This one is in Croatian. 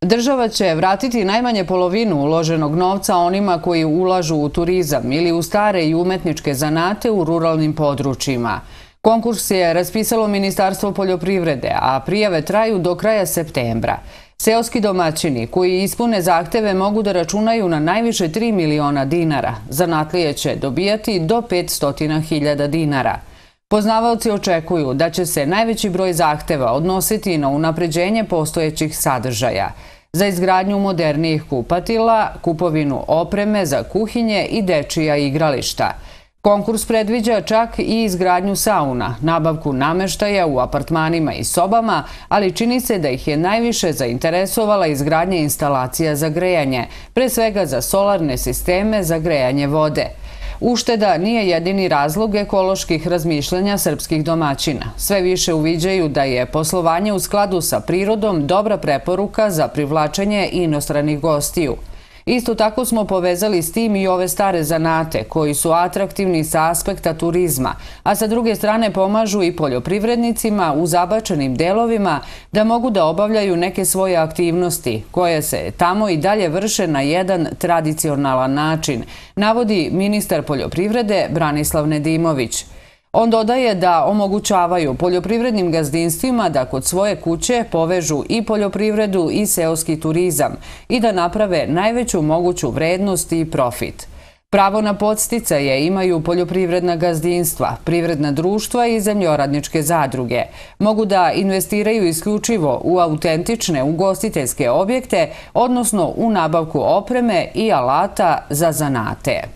Država će vratiti najmanje polovinu uloženog novca onima koji ulažu u turizam ili u stare i umetničke zanate u ruralnim područjima. Konkurs je raspisalo Ministarstvo poljoprivrede, a prijave traju do kraja septembra. Seoski domaćini koji ispune zahteve mogu da računaju na najviše 3 miliona dinara. Zanatlije će dobijati do 500.000 dinara. Poznavaoci očekuju da će se najveći broj zahteva odnositi na unapređenje postojećih sadržaja, za izgradnju modernijih kupatila, kupovinu opreme za kuhinje i dečija igrališta. Konkurs predviđa čak i izgradnju sauna, nabavku nameštaja u apartmanima i sobama, ali čini se da ih je najviše zainteresovala izgradnja instalacija za grejanje, pre svega za solarne sisteme za grejanje vode. Ušteda nije jedini razlog ekoloških razmišljanja srpskih domaćina. Sve više uviđaju da je poslovanje u skladu sa prirodom dobra preporuka za privlačenje inostranih gostiju. Isto tako smo povezali s tim i ove stare zanate koji su atraktivni sa aspekta turizma, a sa druge strane pomažu i poljoprivrednicima u zabačenim delovima da mogu da obavljaju neke svoje aktivnosti koje se tamo i dalje vrše na jedan tradicionalan način, navodi ministar poljoprivrede Branislav Nedimović. On dodaje da omogućavaju poljoprivrednim gazdinstvima da kod svoje kuće povežu i poljoprivredu i seoski turizam i da naprave najveću moguću vrednost i profit. Pravo na podsticaje imaju poljoprivredna gazdinstva, privredna društva i zemljoradničke zadruge. Mogu da investiraju isključivo u autentične ugostiteljske objekte, odnosno u nabavku opreme i alata za zanate.